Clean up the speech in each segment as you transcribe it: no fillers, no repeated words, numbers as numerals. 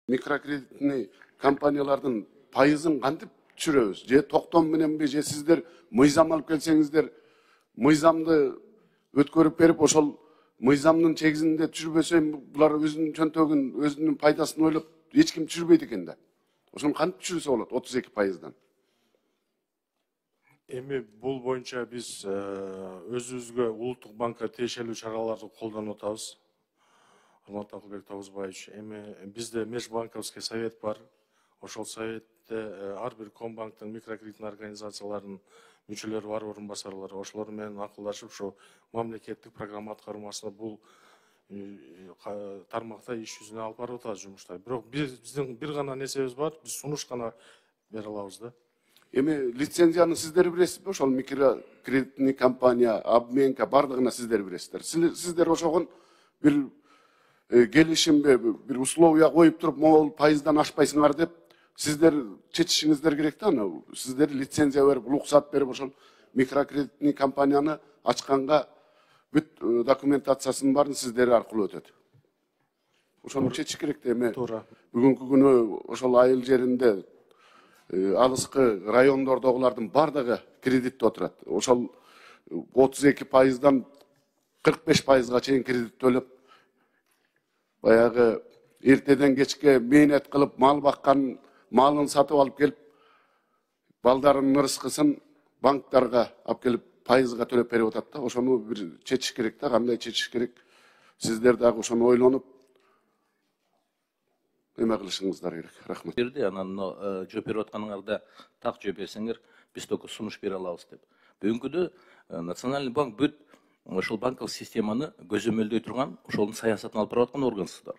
Микрокредитный компаниялардын пайызын кантип түшүрөбүз? Же токтом мененби, же сиздер мыйзам алып келсеңиздер, мыйзамды өткөрүп берип, ошол мыйзамдын чегизинде түшүрбөсө, булар өзүнүн чөнтөгүн, өзүнүн пайдасын ойлоп, эч ким түшүрбөйт экен да. Ошону кантип түшүрсө болот 32%? Эми бул боюнча биз өзүбүзгө улуттук банкка тиешелүү чараларды колдонуп атабыз. Урматтуу Акылбек Тогузбаевич, эми бизде межбанковский совет бар. Ошол советте ар бир Комбанктын микрокредиттик организацияларынын мүчөлөрү бар, орун басарлары. Ошолор менен акылдашып, ошо мамлекеттик программа аткармасына бул тармакта иш жүзүнө алып барып атабыз жумуштар. Бирок биздин бир гана нерсебиз бар, биз сунуш гана бере алабыз да. Эми лицензияны сиздер бересизби? Ошол микрокредитный компания, обменка бардыгына сиздер бересиздер. Сиздер ошогон бир келишимге, бир условия коюп туруп, могул пайыздан ашпайсыңар деп, сиздер чечишиңиздер керек да аны. Сиздер лицензия берип, уруксат берип, ошол микрокредитный компанияны ачканга бүт документациясынын баарын сиздер аркылуу өтөт. Ошону чечиш керек да. Эми бүгүнкү күнү ошол айыл жеринде алыскы райондордогулардын бардыгы кредитте отурат. Ошол 32%дан 45%га чейин кредит төлөп, баягы эртеден кечке мээнет кылып, мал баккан, малын сатып алып келип, балдарынын ырыскысын банктарга алып келип, пайызга төлөп берип атат да. Ошону бир чечиш керек да, кандай чечиш керек. Сиздер дагы ошону ойлонуп, эме кылышыңыздар керек. Рахмат. Берди, анан жооп берип атканыңарда так жооп берсеңер, биз только сунуш бере алабыз деп. Бүгүнкүдө Национальный банк бүт ошол банковый системаны көзөмөлдөй турган, ошонун саясатын алып барып аткан органсыздар.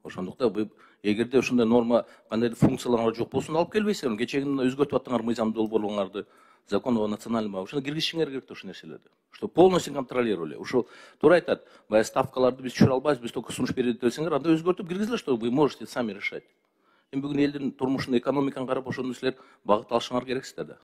Ошондуктан эгерде ушундай норма кандайдыр функциялар жок болсун, алып келбейсиңер. Кечегине өзгөртүп аттыңар мыйзамды долбоорлоңарды, закон о национальном банке. Ошону киргизишиңер керек да ушул нерселерди. Что полностью контролировали. Ушул туура айтат. Баягы ставкаларды биз түшүрө албайбыз, биз только сунуш берет десеңер, анда өзгөртүп киргизиле, что вы можете сами решать. Эми бүгүн элдин турмушун, экономиканы карап, ошону силер багыт алышыңар керексиздер да.